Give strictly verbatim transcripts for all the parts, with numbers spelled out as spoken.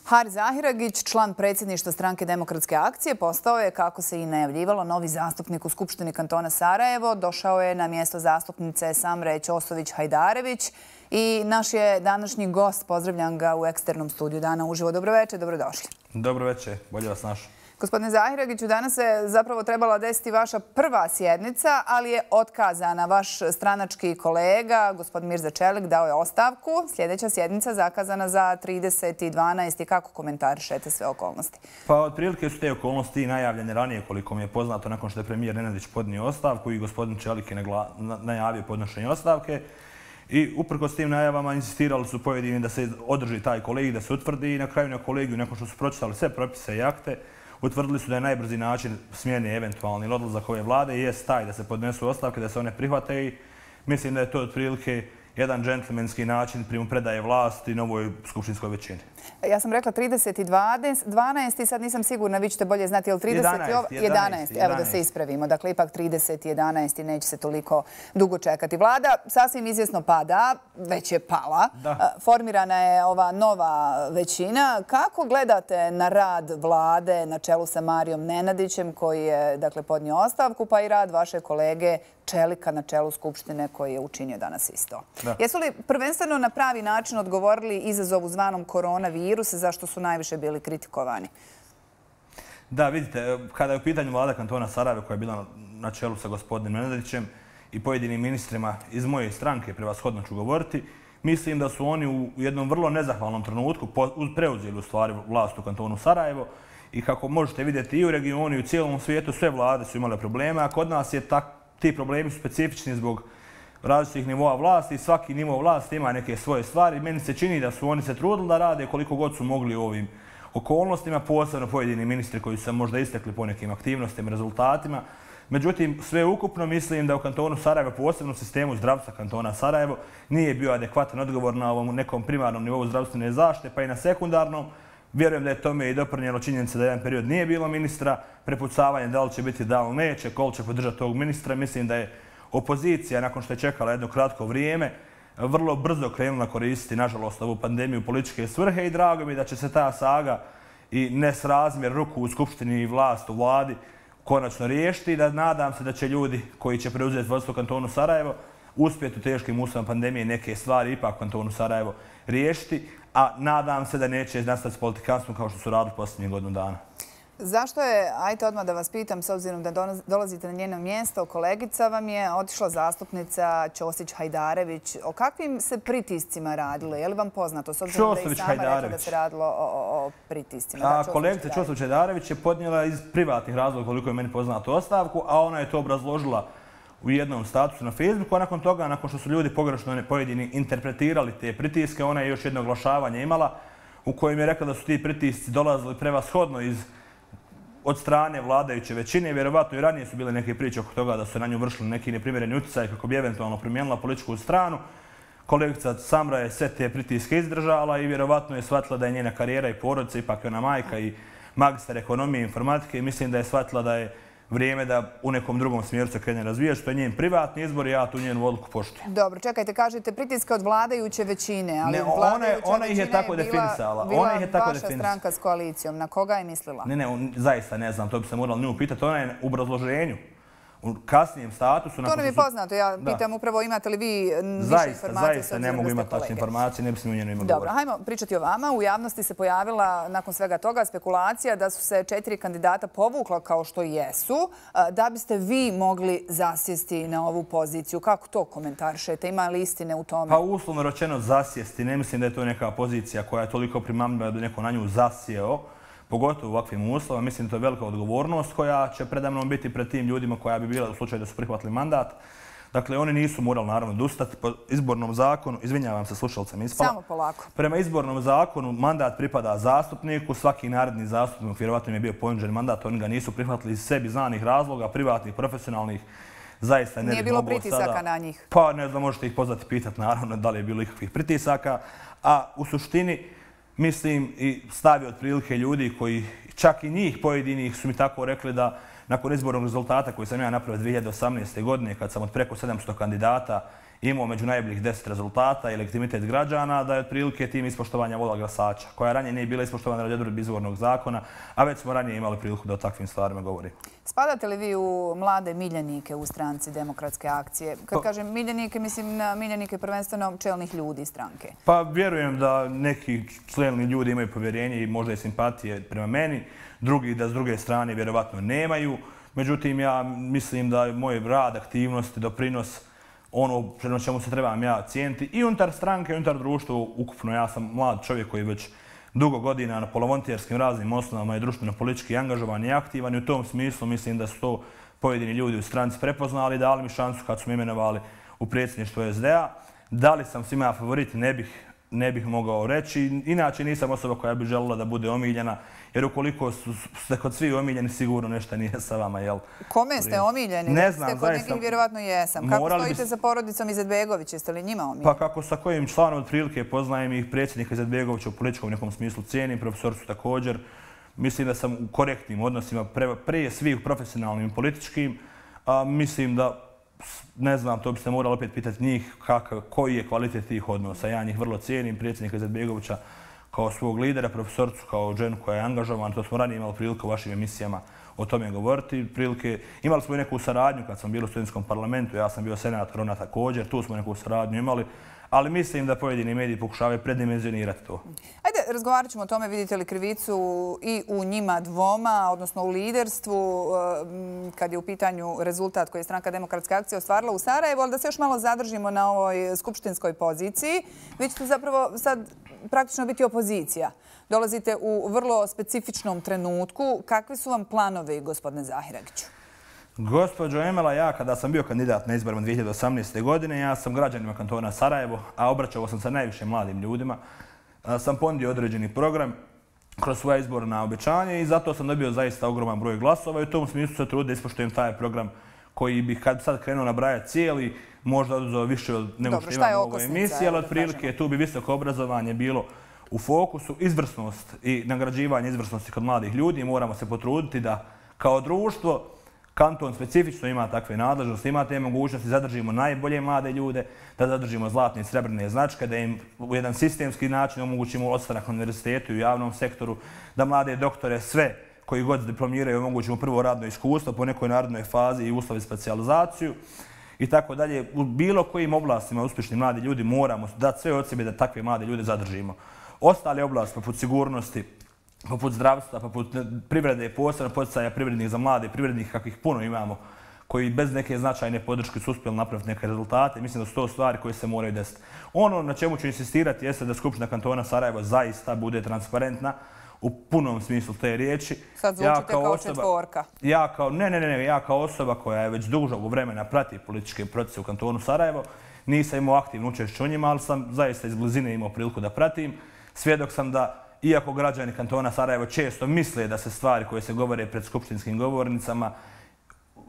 Haris Zahiragić, član predsjedništva Stranke demokratske akcije, postao je, kako se i najavljivalo, novi zastupnik u Skupštini kantona Sarajevo. Došao je na mjesto zastupnice Samre Ćosović-Hajdarević i naš je današnji gost. Pozdravljam ga u eksternom studiju Dana uživo. Dobro večer, dobrodošli. Dobro večer, bolje vas našao. Gospodine Zahiragiću, danas se zapravo trebala desiti vaša prva sjednica, ali je otkazana. Vaš stranački kolega, gospodin Mirza Čelik, dao je ostavku. Sljedeća sjednica zakazana za trideseti dvanaesti Kako komentarišete sve okolnosti? Pa otprilike su te okolnosti najavljene ranije, koliko mi je poznato, nakon što je premijer Nenadić podnio ostavku i gospodin Čelik je najavio podnošenje ostavke. I uprkos tim najavama insistirali su pojedini da se održi taj kolegij, da se utvrdi i na kraju na kolegiju, nakon što su pročitali sve propise i akte, utvrdili su da je najbrži način smjene eventualni odlazak ove vlade jest taj da se podnesu ostavke, da se one prihvate i mislim da je to otprilike jedan džentlmenski način primopredaje vlasti novoj skupštinskoj većini. Ja sam rekla trideseti dvanaesti sad nisam sigurna, vi ćete bolje znati, je li trideseti jedanaesti Evo da se ispravimo, dakle ipak trideseti jedanaesti neće se toliko dugo čekati. Vlada sasvim izvjesno pada, već je pala. Formirana je ova nova većina. Kako gledate na rad vlade na čelu sa Marijom Nenadićem, koji je dakle podnio ostavku, pa i rad vaše kolege Čelika na čelu Skupštine koji je učinio danas isto? Jesu li prvenstveno na pravi način odgovorili izazovu zvanom koronavirus, zašto su najviše bili kritikovani? Da, vidite, kada je u pitanju vlada kantona Sarajeva koja je bila na čelu sa gospodinom Nenadićem i pojedinim ministrima iz moje stranke, prevashodno ću govoriti, mislim da su oni u jednom vrlo nezahvalnom trenutku preuzeli u stvari vlast u kantonu Sarajevo i kako možete vidjeti i u regionu i u cijelom svijetu sve vlade su imale probleme, a kod nas je tako ti problemi su specifični zbog različitih nivoa vlasti i svaki nivo vlasti ima neke svoje stvari. Meni se čini da su oni se trudili da rade koliko god su mogli u ovim okolnostima, posebno pojedini ministri koji su se možda istekli po nekim aktivnostima i rezultatima. Međutim, sve ukupno mislim da u kantonu Sarajevo, posebno u sistemu zdravstva kantona Sarajevo, nije bio adekvatan odgovor na ovom nekom primarnom nivou zdravstvene zaštite, pa i na sekundarnom. Vjerujem da je tome i doprinijelo činjenica da jedan period nije bilo ministra, prepucavanje da li će biti, da li neće, koliko će podržati tog ministra. Mislim da je opozicija, nakon što je čekala jedno kratko vrijeme, vrlo brzo krenula koristiti, nažalost, ovu pandemiju u političke svrhe i drago mi da će se ta saga i nesrazmjer ruku u Skupštini i vlast u vladi konačno riješiti i da nadam se da će ljudi koji će preuzeti vodstvo kantonu Sarajevo uspjeti u teškim uslovima pandemije neke stvari ipak u kantonu Sarajevo riješiti, a nadam se da neće nastaviti s politikanstvom kao što su radili posljednjih godinu dana. Zašto je, ajte odmah da vas pitam, s obzirom da dolazite na njeno mjesto, kolegica vam je otišla zastupnica Ćosić-Hajdarević. O kakvim se pritiscima radilo? Je li vam poznato? S obzirom da je i sama rekla da se radilo o pritiscima. Kolegica Ćosić-Hajdarević je podnijela iz privatnih razloga, koliko je meni poznato, ostavku, a ona je to obrazložila u jednom statusu na Facebooku, a nakon toga, nakon što su ljudi pogrešno pojedini interpretirali te pritiske, ona je još jedno oglašavanje imala u kojem je rekla da su ti pritisci dolazili prevashodno iz od strane vladajuće većine. Vjerovatno i ranije su bile neke priče oko toga da su na nju vršili neki neprimjereni utjecaj kako bi eventualno promijenila političku stranu. Kolegica Samra je sve te pritiske izdržala i vjerovatno je shvatila da je njena karijera i porodica, ipak je ona majka i magistar ekonomije i informatike i mislim da je shvatila da je vrijeme da u nekom drugom smjeru se krene razvijati, što je njen privatni izbor i ja tu njenu odluku poštujem. Dobro, čekajte, kažete pritiske od vladajuće većine, ali ona ih je tako definisala. Bila vaša stranka s koalicijom. Na koga je mislila? Ne, ne, zaista ne znam, to bi se morali nju pitati. Ona je u obrazloženju, u kasnijem statusu. To nam je poznato. Ja pitam upravo imate li vi više informacije? Zaista, zaista ne mogu imati tačne informacije, ne bi se u njenu ima govoriti. Dobro, hajmo pričati o vama. U javnosti se pojavila nakon svega toga spekulacija da su se četiri kandidata povukla kao što jesu, da biste vi mogli zasjesti na ovu poziciju. Kako to komentarišete? Ima li istine u tome? Pa uslovno rečeno zasjesti. Ne mislim da je to neka pozicija koja je toliko primamljiva da neko na nju zasjeo. Pogotovo u ovakvim uslovima. Mislim da to je velika odgovornost koja će predamnom biti pred tim ljudima koja bi bila u slučaju da su prihvatili mandat. Dakle, oni nisu morali naravno odustati po izbornom zakonu. Izvinjavam se, slušalcem ispala. Samo polako. Prema izbornom zakonu mandat pripada zastupniku. Svaki naredni zastupnik, vjerovatno im je bio ponuđen mandat, oni ga nisu prihvatili iz sebi znanih razloga, privatnih, profesionalnih. Zaista ne bi bilo pritisaka na njih? Pa ne znam, možete ih pozvati pitati naravno da li je bilo ikakvih pritisaka. A u suštini mislim i stavi otprilike ljudi koji, čak i njih pojedinih su mi tako rekli da nakon izbornog rezultata koji sam ja napravio dvije hiljade osamnaeste. godine, kad sam od preko sedamsto kandidata imao među najboljih deset rezultata i legitimitet građana, da je otprilike tim ispoštovanja vola glasača, koja ranije nije bila ispoštovana radi odredbi izvornog zakona, a već smo ranije imali priliku da o takvim stvarima govorimo. Spadate li vi u mlade miljenike u stranci Demokratske akcije? Kad kažem miljenike, mislim na miljenike prvenstveno čelnih ljudi stranke. Pa vjerujem da neki čelni ljudi imaju povjerenje i možda i simpatije prema meni, drugi da s druge strane vjerovatno nemaju. Međutim, ja mislim da je moj rad, aktivnost i doprinos ono prema čemu se trebam ja cijeniti i unutar stranke, i unutar društva ukupno. Ja sam mlad čovjek koji već dugo godina na polovolonterskim raznim osnovama je društveno-politički angažovan i aktivan i u tom smislu mislim da su to pojedini ljudi u stranci prepoznali i dali mi šansu kad su me imenovali u predsjedništvo es de a. Da li sam svima favorit, ne bih, ne bih mogao reći. Inače nisam osoba koja bi željela da bude omiljena, jer ukoliko ste kod svi omiljeni, sigurno nešto nije sa vama, jel? Kome ste omiljeni? Ne znam, zaista. Kod nekih vjerovatno jesam. Kako stojite za porodicom Izetbegović? Jeste li njima omiljeni? Pa kako sa kojim članom otprilike poznajem ih predsjednika Izetbegovića u političkom nekom smislu cijenim, profesorcu također. Mislim da sam u korektnim odnosima prije svih profesionalnim i političkim. Mislim da, ne znam, to biste morali opet pitati njih koji je kvalitet tih odnosa. Ja njih vrlo cijenim, predsjednika Izetbegovića kao svog lidera, profesorcu, kao ženu koja je angažovan. To smo ranije imali priliku u vašim emisijama o tome govoriti. Prilike, imali smo i neku saradnju kad sam bio u studentskom parlamentu, ja sam bio senator, ona također, tu smo neku saradnju imali, ali mislim da pojedini mediji pokušavaju predimenzionirati to. Ajde, razgovarat ćemo o tome, vidite li krivicu i u njima dvoma, odnosno u liderstvu, kad je u pitanju rezultat koji je stranka Demokratske akcije ostvarila u Sarajevu, ali da se još malo zadržimo na ovoj skupštinskoj poziciji. Vi ćete zapravo sad praktično biti opozicija. Dolazite u vrlo specifičnom trenutku. Kakvi su vam planovi, gospodine Zahiragiću? Gospođo Emela, ja kada sam bio kandidat na izborima dvije hiljade osamnaeste. godine, ja sam građanima kantona Sarajevo, a obraćao sam se najviše mladim ljudima, sam ponudio određeni program kroz svoje izborna obećanje i zato sam dobio zaista ogroman broj glasova i u tom smislu se trudim da ispoštujem taj program koji bih kad sad krenuo nabrajati cijeli, možda oduzeo više od nego što imamo u ovoj emisiji, ali otprilike tu bi visoko obrazovanje bilo u fokusu, izvrsnost i nagrađivanje izvrsnosti kod mladih ljudi. Moramo se potruditi da kao društvo kanton specifično ima takve nadležnosti, ima te mogućnosti, zadržimo najbolje mlade ljude, da zadržimo zlatne i srebrne značke, da im u jedan sistemski način omogućimo ostanak na univerzitetu i u javnom sektoru, da mlade doktore sve koji god diplomiraju omogućimo prvo radno iskustvo po nekoj narodnoj fazi i uslovi specijalizaciju i tako dalje. U bilo kojim oblastima uspješni mladi ljudi moramo dati sve od sebe da takve mlade ljude zadržimo. Ostale oblasti poput sigurnosti, poput zdravstva, poput privrede, posebno poticaja privrednih za mlade, privrednih kakvih puno imamo, koji bez neke značajne podrške su uspjeli napraviti neke rezultate. Mislim da su to stvari koje se moraju desiti. Ono na čemu ću insistirati jeste da Skupština kantona Sarajevo zaista bude transparentna u punom smislu te riječi. Sad zvučite kao četvorka. Ja kao, ne, ne, ne, ja kao osoba koja je već dužog vremena prati političke procese u kantonu Sarajevo, nisam imao aktivno učešće u njima, ali sam zaista iz blizine imao priliku da pratim. Svjedok sam da, iako građani kantona Sarajevo često misle da se stvari koje se govore pred skupštinskim govornicama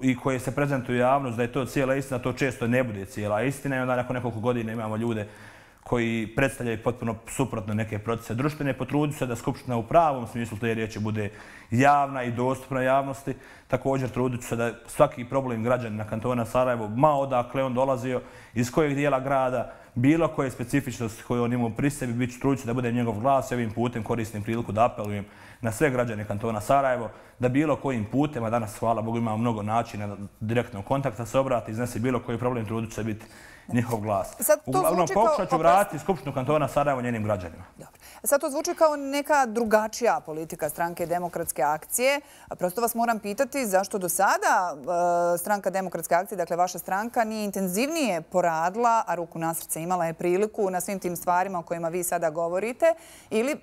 i koje se prezentuju javnost, da je to cijela istina, to često ne bude cijela istina i onda nakon nekoliko godina imamo ljude koji predstavljaju potpuno suprotno neke procese društvene. Potrudit se da Skupština u pravom smislu te riječi bude javna i dostupna javnosti. Također trudit se da svaki problem građanina kantona Sarajevo, ma odakle on dolazio, iz kojeg dijela grada, bilo koje specifičnosti koje on imao pri sebi, bit ću trudit se da bude njegov glas i ovim putem koristim priliku da apelujem na sve građane kantona Sarajevo, da bilo kojim putem, a danas, hvala Bogu, imamo mnogo načina direktnog kontakta, se obrati, iznese bilo koji problem, trudit će biti njihov glas. Uglavnom, pokušat ću vratiti Skupštinu kantona Sarajevo njenim građanima. Sad to zvuči kao neka drugačija politika stranke Demokratske akcije. Prosto vas moram pitati zašto do sada stranka Demokratske akcije, dakle vaša stranka, nije intenzivnije poradila, a ruku na srce imala je priliku na svim tim stvarima o kojima vi sada govorite. Ili,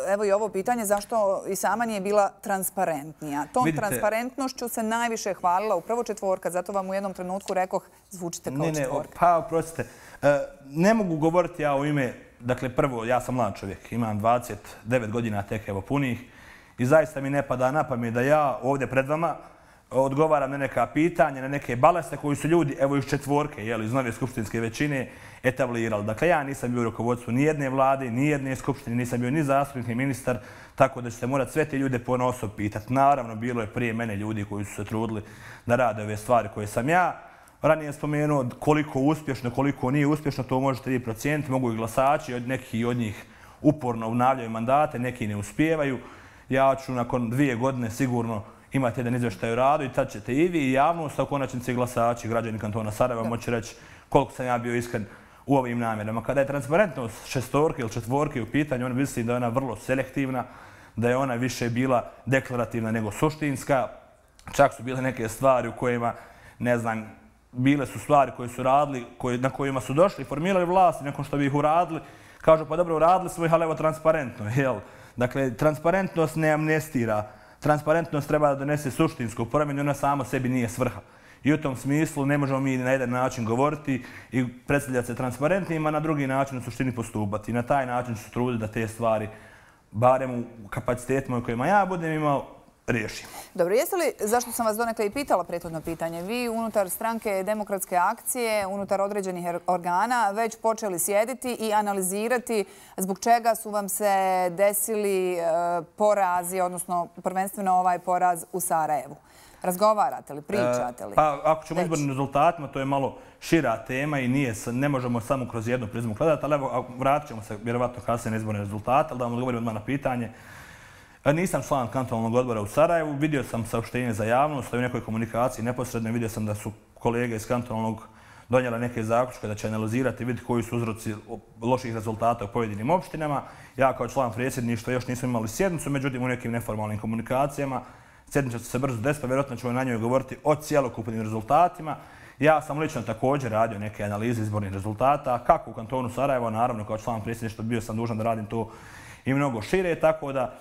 evo i ovo pitanje, zašto i sama nije bila transparentnija. Tom transparentnošću se najviše hvalila upravo četvorka, zato vam u jednom trenutku rekoh zvučite kao četvorka. Pa, oprostite, ne mogu govoriti ja u ime, dakle prvo, ja sam mlad čovjek, imam dvadeset devet godina tek evo punih i zaista mi ne pada na pamet da ja ovdje pred vama odgovaram na neka pitanja, na neke baleste koji su ljudi, evo iz četvorke, iz nove skupštinske većine, etablirali. Dakle, ja nisam bio u rukovodstvu ni jedne vlade, ni jedne skupštine, nisam bio ni zastupnik, ni ministar, tako da ćete morati sve te ljude ponaosob pitati. Naravno, bilo je prije mene ljudi koji su se trudili da rade ove stvari koje sam ja ranije spomenuo koliko uspješno, koliko nije uspješno, to možete vi procijeniti. Mogu i glasači, neki od njih uporno obnavljaju mandate, neki ne uspijevaju. Ja ću nakon dvije godine sigurno imati jedan izvještaj o radu i tad ćete i vi i javnost, a u konačnici glasači, građani kantona Sarajeva moći reći koliko sam ja bio iskren u ovim namjerama. Kada je transparentnost šestorke ili četvorke u pitanju, ona mislim da je ona vrlo selektivna, da je ona više bila deklarativna nego suštinska. Čak su bile neke stvari u kojima, ne znam, bile su stvari koje su radili, na kojima su došli, formirali vlast i nakon što bi ih uradili, kažu pa dobro, uradili smo ih, ali evo transparentno, jel? Dakle, transparentnost ne amnestira. Transparentnost treba da donese suštinsku promjenu, ona samo sebi nije svrha. I u tom smislu ne možemo mi na jedan način govoriti i predstavljati se transparentnima, a na drugi način u suštini postupati. I na taj način ću se truditi da te stvari, barem u kapacitetima u kojima ja budem imao, riješimo. Dobro, jeste li, zašto sam vas donekle i pitala prethodno pitanje, vi unutar stranke Demokratske akcije, unutar određenih organa, već počeli sjediti i analizirati zbog čega su vam se desili porazi, odnosno prvenstveno ovaj poraz u Sarajevu? Razgovarate li, pričate li? Pa ako ćemo izbornim rezultatima, to je malo šira tema i nije, ne možemo samo kroz jednu prizmu gledati, ali evo, vratit ćemo se vjerovatno kasnije na izborne rezultate, ali da vam odgovorim odmah na pitanje. Nisam član kantonalnog odbora u Sarajevu, vidio sam saopštenje za javnost, u nekoj komunikaciji neposredno vidio sam da su kolege iz kantonalnog donijela neke zaključke da će analizirati i vidjeti koji su uzroci loših rezultata u pojedinim opštinama. Ja kao član predsjedništva još nisam imali sjednicu, međutim u nekim neformalnim komunikacijama sjednica će se brzo desiti, pa vjerojatno ćemo na njoj govoriti o cjelokupnim rezultatima. Ja sam lično također radio neke analize izbornih rezultata, kako u kantonu Sarajevo, naravno kao član predsjedništva bio sam dužan da radim to i mnogo šire, tako da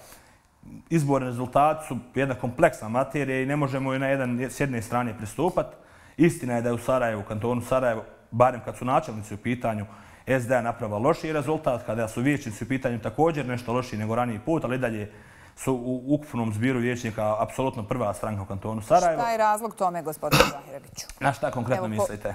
izborni rezultati su jedna kompleksna materija i ne možemo joj na jedan, s jedne strane pristupati. Istina je da je u Sarajevu, u kantonu Sarajevo, barem kad su načelnici u pitanju, S D A napravila lošiji rezultat, kada su vijećnici u pitanju također nešto lošiji nego raniji put, ali dalje su u ukupnom zbiru vijećnika apsolutno prva stranka u kantonu Sarajevo. Šta je razlog tome, gospodine Zahireviću? Na šta konkretno mislite?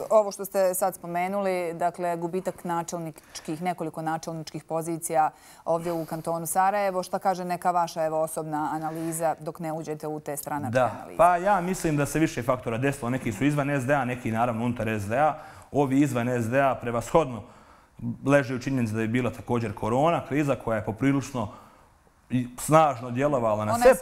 Ovo što ste sad spomenuli, dakle, gubitak načelničkih, nekoliko načelničkih pozicija ovdje u kantonu Sarajevo. Šta kaže neka vaša evo, osobna analiza dok ne uđete u te stranačke analize? Pa ja mislim da se više faktora desilo. Neki su izvan S D A, neki naravno unutar S D A. Ovi izvan S D A prevashodno leže u činjenici da je bila također korona, kriza koja je poprilično i snažno djelovala na sve,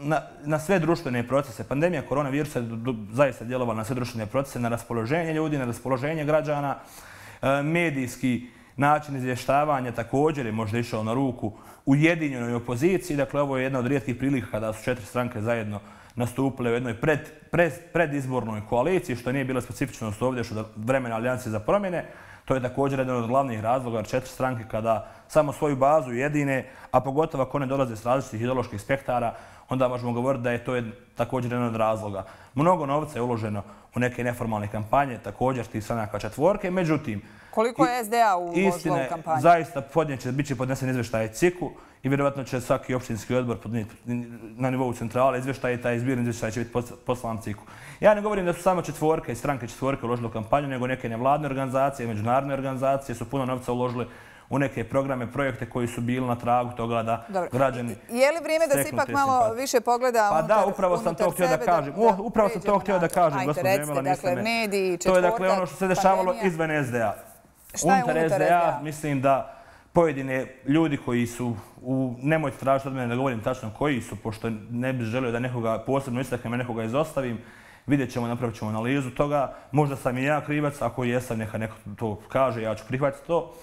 na, na sve društvene procese. Pandemija koronavirusa je zaista djelovala na sve društvene procese, na raspoloženje ljudi, na raspoloženje građana. E, medijski način izvještavanja također je možda išao na ruku ujedinjenoj opoziciji. Dakle, ovo je jedna od rijetkih prilika kada su četiri stranke zajedno nastupile u jednoj pred, pred, predizbornoj koaliciji, što nije bila specifičnost ovdje što vremena Alijanse za promjene. To je također jedan od glavnih razloga, jer četiri stranke kada samo svoju bazu jedine, a pogotovo ako one dolaze s različitih ideoloških spektara, onda možemo govoriti da je to također jedan od razloga. Mnogo novca je uloženo u neke neformalne kampanje, također tih stranaka četvorke, međutim... Koliko je S D A uložilo u kampanju? Zaista bit će podnesen izvještaj C I K-u i vjerovatno će svaki opštinski odbor podnijeti na nivou centrale izvještaj i taj zbirni izvještaj će biti poslan C I K-u. Ja ne govorim da su samo četvorke i stranke četvorke uložile u kampanju, nego neke nevladne organizacije, međunarodne organizacije su puno novca uložile u neke programe, projekte koji su bili na tragu toga da građani steknu te simpatije. Je li vrijeme da se ipak malo više pogleda unutar sebe? Pa da, upravo sam to htio da kažem. Upravo sam to htio da kažem, gospođo Emela, niste me. To je dakle ono što se dešavalo izvan S D A. Unutar S D A mislim da pojedine ljudi koji su, nemojte tražiti od mene da govorim tačno koji su, pošto ne bih želio da nekoga posebno istaknem, a nekoga izostavim, vidjet ćemo, napravit ćemo analizu toga. Možda sam i ja krivac, ako jesam, neka neko to kaže, ja ću prihvatiti to.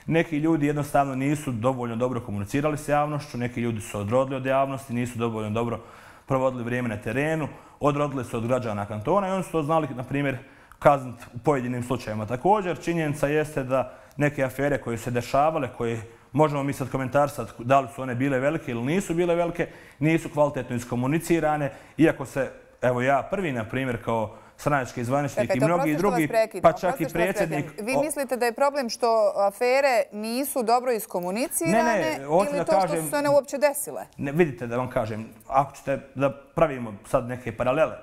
Neki ljudi jednostavno nisu dovoljno dobro komunicirali s javnošću, neki ljudi su odrodili od javnosti, nisu dovoljno dobro provodili vrijeme na terenu, odrodili su od građana kantona i oni su to znali, na primjer, kazniti u pojedinim slučajima. Također, činjenica jeste da neke afere koje se dešavale, koje možemo mi sad komentarisati da li su one bile velike ili nisu bile velike, nisu kvalitetno iskomunicirane, iako se, evo ja prvi, na primjer, kao stranački zvaničnik i mnogi drugi, pa čak i predsjednik... Vi mislite da je problem što afere nisu dobro iskomunicirane ili to što su se one uopće desile? Ne, vidite da vam kažem, ako ćete da pravimo sad neke paralele,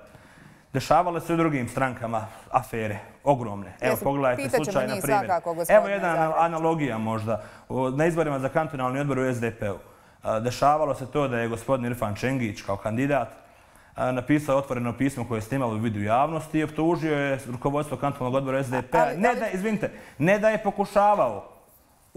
dešavale se u drugim strankama afere, ogromne. Evo, pogledajte slučaj, na primjer. Evo jedna analogija možda. Na izborima za kantonalni odbor u S D P-u dešavalo se to da je gospodin Irfan Čengić kao kandidat napisao otvoreno pismo koje je snimalo u vidu javnosti i optužio je rukovodstvo kantonalnog odbora S D P-a. Ne da, izvinite, ne da je pokušavao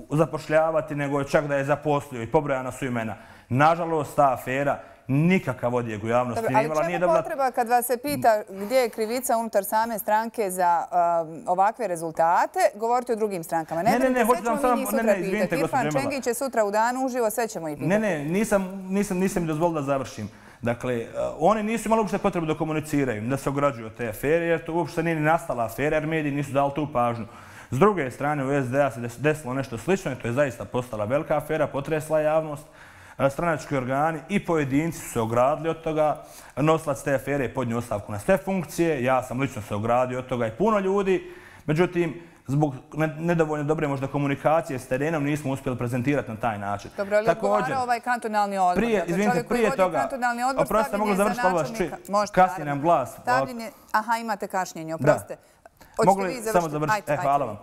zapošljavati, nego je čak da je zaposlio i pobrojana su imena. Nažalost, ta afera nikakav odjek u javnosti nije imala. Ali čemu potreba kad vas se pita gdje je krivica unutar same stranke za ovakve rezultate, govorite o drugim strankama? Ne, ne, ne, hoću vam samo... Ne, ne, izvinite, gospođo Džemila. Irfan Čengić je sutra u danu uživo, sve ćemo i pitati. Ne, ne, nisam mi dozvolila da završim. Dakle, oni nisu imali uopšte potrebu da komuniciraju, da se ograđuju od te afere, jer to uopšte nije ni nastala afera, jer mediji nisu dali tu pažnju. S druge strane, u S D A se desilo nešto slično i to je zaista postala velika afera, potresla javnost. Stranački organi i pojedinci su se ogradili od toga. Nosilac te afere je podnio ostavku na sve funkcije. Ja sam lično se ogradio od toga i puno ljudi. Međutim, zbog nedovoljno dobre možda komunikacije s terenom nismo uspjeli prezentirati na taj način. Dobro, ali odgovara ovaj kantonalni odbor? Prije, izvinite, prije toga, oprostite, mogu završiti, ali vas čujem, kasnije nam glas. Aha, imate kašnjenje, oprostite. Mogu li samo završiti? E, hvala vam.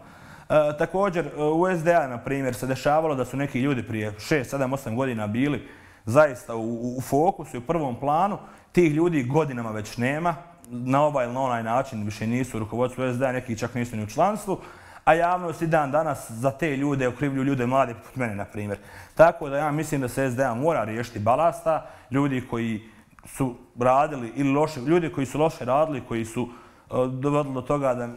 Također, u S D A, na primjer, se dešavalo da su neki ljudi prije šest, sedam, osam godina bili zaista u fokusu i u prvom planu. Tih ljudi godinama već nema. Na ovaj ili na onaj način više nisu u rukovodstvu S D A, neki čak nisu ni u članstvu. A javnost i dan danas za te ljude okrivljuju ljude mlade poput mene, na primjer. Tako da ja mislim da se S D A mora riješiti balasta. Ljudi koji su radili ili loše, ljudi koji su loše radili, koji su dovodilo do toga da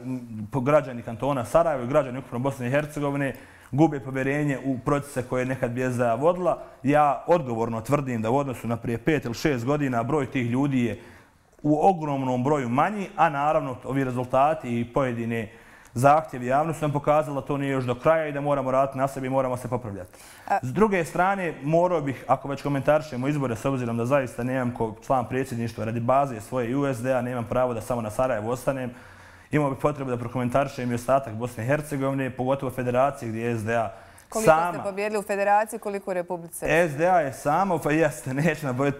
građani kantona Sarajevo i građani ukupno Bosne i Hercegovine gube povjerenje u procese koje je nekad bi S D A vodila. Ja odgovorno tvrdim da u odnosu na prije pet ili šest godina broj tih ljudi je u ogromnom broju manji, a naravno ovi rezultati i pojedine zahtjevi javnosti nam pokazali da to nije još do kraja i da moramo raditi na sebi i moramo se popravljati. S druge strane, morao bih, ako već komentarišemo izbore, s obzirom da zaista nemam kao član predsjedništva radi baze svoje i U S D A, nemam pravo da samo na Sarajevu ostanem, imao bih potrebu da prokomentarišem i ostatak Bosne i Hercegovine, pogotovo federacije gdje je S D A koliko ste pobjedili u federaciji, koliko u Republici? S D A je samo, pa jeste,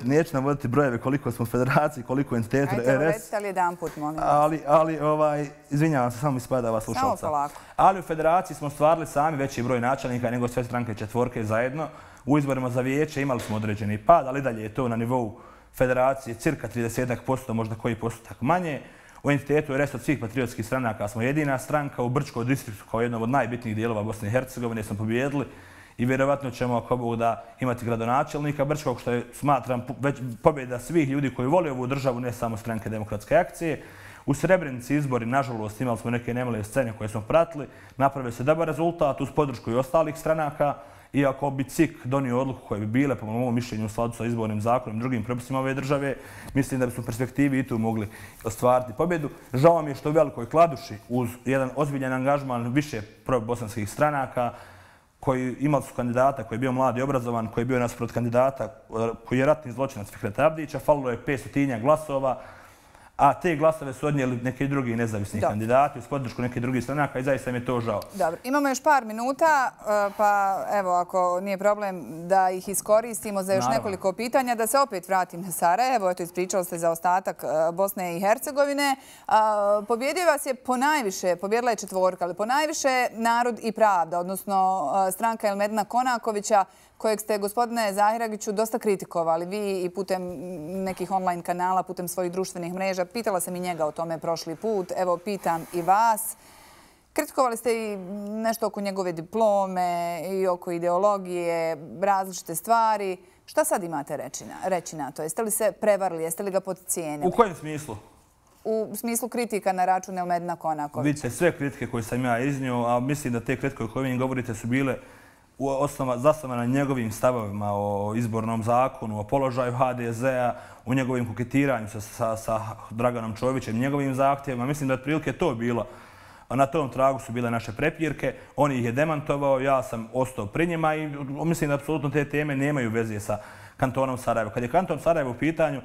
neću navoditi brojeve koliko smo u federaciji, koliko u entitetu R S. Ajde, recite ali jedan put, molim vas. Ali, ali, ovaj, izvinjavam se, samo mi spada vas slušalca. Samo polako. Ali u federaciji smo stvarili sami veći broj načelnika nego sve stranke četvorke zajedno. U izborima za vijeće imali smo određeni pad, ali dalje je to na nivou federacije cirka trideset posto, možda koji postotak manje. U entitetu R S od svih patriotskih stranaka smo jedina stranka. U Brčkoj distriktu kao jednom od najbitnijih dijelova Bosne i Hercegovine smo pobjedili i vjerovatno ćemo ako Bog da imati gradonačelnika Brčkog, što je, smatram, pobjeda svih ljudi koji vole ovu državu, ne samo stranke Demokratske akcije. U Srebrenici izbori, nažalost, imali smo neke nemile scene koje smo pratili. Napravio se dobar rezultat uz podršku i ostalih stranaka. Iako bi C I K donio odluku koje bi bile, po mojom mišljenju, u skladu sa izbornim zakonom i drugim propisima ove države, mislim da bi smo u perspektivi i tu mogli ostvariti pobjedu. Žao mi je što u Velikoj Kladuši, uz jedan ozbiljan angažman više probosanskih stranaka, koji imali su kandidata koji je bio mlad i obrazovan, koji je bio nasprot kandidata koji je ratni zločinac Fikreta Abdića, falilo je petsto glasova, a te glasove su odnijeli neki drugi nezavisni kandidati uz podršku nekih drugih stranaka i zaista mi je to žao. Dobro, imamo još par minuta, pa evo, ako nije problem da ih iskoristimo za još nekoliko pitanja, da se opet vratim na Sarajevo. Eto, ispričali ste za ostatak Bosne i Hercegovine. Pobjedio vas je ponajviše, pobjedila je četvorka, ali ponajviše Narod i pravda, odnosno stranka Elmedina Konakovića, kojeg ste, gospodine Zahiragiću, dosta kritikovali. Vi i putem nekih online kanala, putem svojih društvenih mreža. Pitala sam i njega o tome prošli put. Evo, pitam i vas. Kritikovali ste i nešto oko njegove diplome i oko ideologije, različite stvari. Šta sad imate reći na to? Jeste li se prevarili? Jeste li ga podcijenili? U kojem smislu? U smislu kritika na račun Elmedina Konakovića. Vidite, sve kritike koje sam ja iznio, a mislim da te kritike o kojim govorite su bile zasnovana na njegovim stavovima o izbornom zakonu, o položaju H D Z-a, u njegovim koketiranju sa Draganom Čovićem, njegovim zahtjevima. Mislim da je otprilike to bilo. Na tom tragu su bile naše prepirke. On ih je demantovao, ja sam ostao pri njima i mislim da apsolutno te teme nemaju veze sa kantonom Sarajevo. Kad je kanton Sarajevo u pitanju,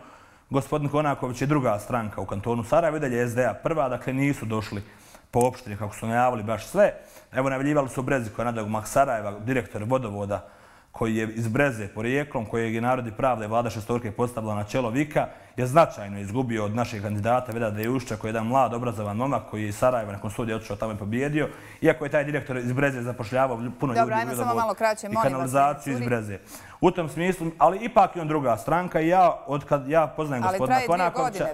gospodin Konaković je druga stranka u kantonu Sarajevo i dalje je S D A prva, dakle nisu došli po opštini kako su najavili baš sve. Evo, najavljivali su u Breziku nadogmak Sarajeva, direktor vodovoda koji je iz Breze porijeklom, kojeg je Narod i pravda i vlada šestorke postavila na čelo Vika, je značajno izgubio od našeg kandidata Vedada Jušća, koji je jedan mlad, obrazovan momak koji je iz Sarajeva nakon studija otišao tamo i pobjedio. Iako je taj direktor iz Breze zapošljavao puno ljudi u vodovod i kanalizaciju iz Breze. U tom smislu, ali ipak je on druga stranka i ja, od kad ja poznajem gospodina Konakovića...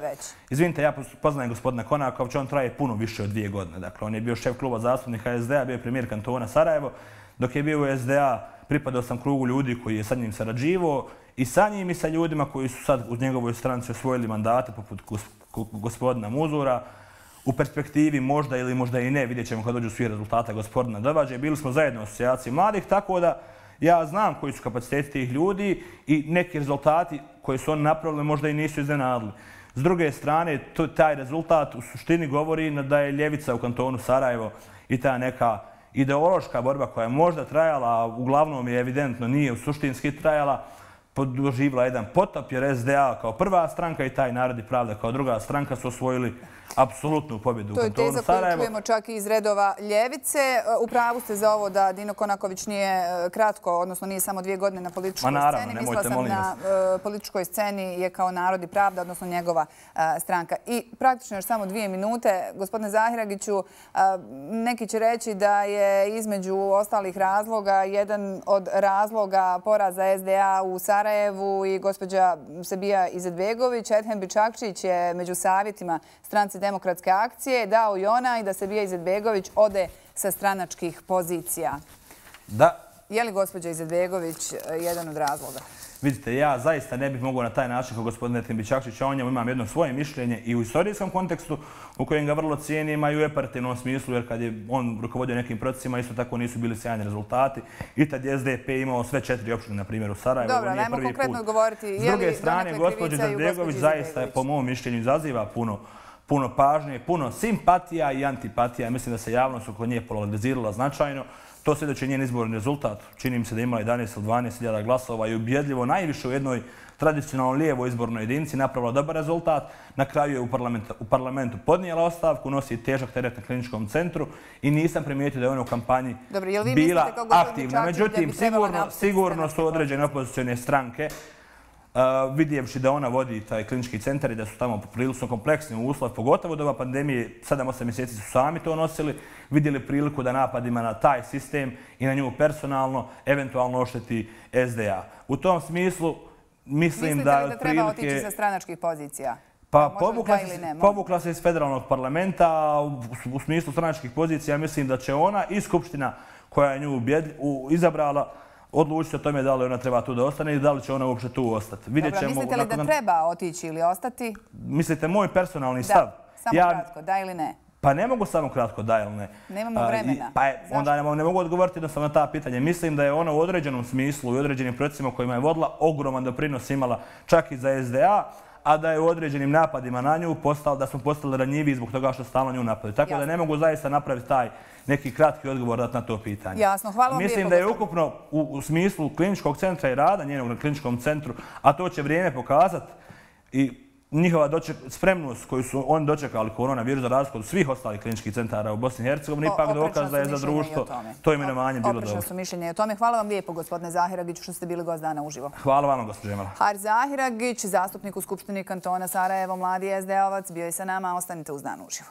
Izvinite, ja poznajem gospodina Konakovića, on traje puno više od dvije godine. Dakle, on je bio šef kluba zastupnika es de a, bio je premijer kantona Sarajevo. Dok je bio u es de a, pripadao sam krugu ljudi koji je sa njim sarađivao i sa njim i sa ljudima koji su sad u njegovoj stranci osvojili mandate poput gospodina Muzura. U perspektivi možda ili možda i ne, vidjet ćemo kad dođu svi rezultata gospodina Dovađe. Bili smo zajedno u asocijaciji mladih, tako da ja znam koji su kapaciteti tih ljudi i neki rezultati koje su oni napravili možda i nisu iznenadili. S druge strane, taj rezultat u suštini govori da je ljevica u kantonu Sarajevo i ta neka ideološka borba koja je možda trajala, a uglavnom je evidentno nije u suštinski trajala, doživjela jedan potop jer es de a kao prva stranka i taj Narod i pravda kao druga stranka su osvojili apsolutnu pobjedu u kantonu Sarajevo. To je teza koju čujemo čak i iz redova ljevice. Upravu ste za ovo da Dino Konaković nije kratko, odnosno nije samo dvije godine na političkoj sceni. Mislila sam na političkoj sceni je kao Narod i pravda, odnosno njegova stranka. I praktično još samo dvije minute. Gospodine Zahiragiću, neki će reći da je između ostalih razloga jedan od razloga poraza es de a u Sarajevu i gospođa Sebija Izetbegović. Edhem Bičakčić je među savjetima stranci Demokratske akcije dao i ona i da Sebija Izetbegović ode sa stranačkih pozicija. Da. Je li gospođa Izetbegović jedan od razloga? Vidite, ja zaista ne bih mogao na taj način kao gospodin Edhem Bičakčić, a o njemu imam jedno svoje mišljenje i u istorijskom kontekstu u kojem ga vrlo cijenim, a i u operativnom smislu, jer kad je on rukovodio nekim procesima, isto tako nisu bili sjajni rezultati. I tad je es de pe imao sve četiri opštine, na primjer, u Sarajevu. Dobro, najmo konkretno govoriti. S druge strane, gospođa Izetbegović zaista, po mom mišljenju, izaziva puno puno pažnje, puno simpatija i antipatija. Mislim da se javnost oko nje polarizirala značajno. To svjedoči njen izborni rezultat. Čini mi se da je imala jedanaest ili dvanaest hiljada glasova i ubjedljivo najviše u jednoj tradicionalno lijevoj izbornoj jedinici napravila dobar rezultat. Na kraju je u parlamentu podnijela ostavku, nosi težak teret na kliničkom centru i nisam primijetio da je ona u kampanji bila aktivna. Međutim, sigurno su određene opozicione stranke vidjevši da ona vodi taj klinički centar i da su tamo prilično kompleksni uslov, pogotovo do ove pandemije, sedam osam mjeseci su sami to nosili, vidjeli priliku da napadima na taj sistem i na nju personalno eventualno ošteti es de a. U tom smislu mislim da... Mislite li da treba otići sa stranačkih pozicija? Pa povukla se iz federalnog parlamenta u smislu stranačkih pozicija. Mislim da će ona i Skupština koja je nju izabrala odlučiti o tome da li ona treba tu da ostane i da li će ona uopće tu ostati. Dobro, mislite li da treba otići ili ostati? Mislite moj personalni stav? Da, samo kratko, da ili ne? Pa ne mogu samo kratko da ili ne. Nemamo vremena. Pa onda ne mogu odgovoriti jednostavno na ta pitanja. Mislim da je ona u određenom smislu i određenim procesima kojima je vodila ogroman doprinos imala čak i za es de a, a da je u određenim napadima na nju da smo postali ranjivi zbog toga što stalno nju napadaju. Tako da ne mogu zaista napraviti taj neki kratki odgovor na to pitanje. Jasno, hvala vam lijepo. Mislim da je ukupno u smislu kliničkog centra i rada njenog na kliničkom centru, a to će vrijeme pokazati i njihova spremnost koju su oni dočekali koronavirus za razliku od svih ostalih kliničkih centara u Bosni i Hercegovini, ipak dokaz da je za društvo to imenovanje bilo dobro. Oprečno su mišljenje o tome. Hvala vam lijepo, gospodine Zahiragiću, što ste bili gost dana uživo. Hvala vam, gospođo Emela. Haris Zahiragić, zastupnik u Skupštini kantona Sarajevo, mladi es de a-ovac, bio je sa nama. Ostanite uz Dan uživo.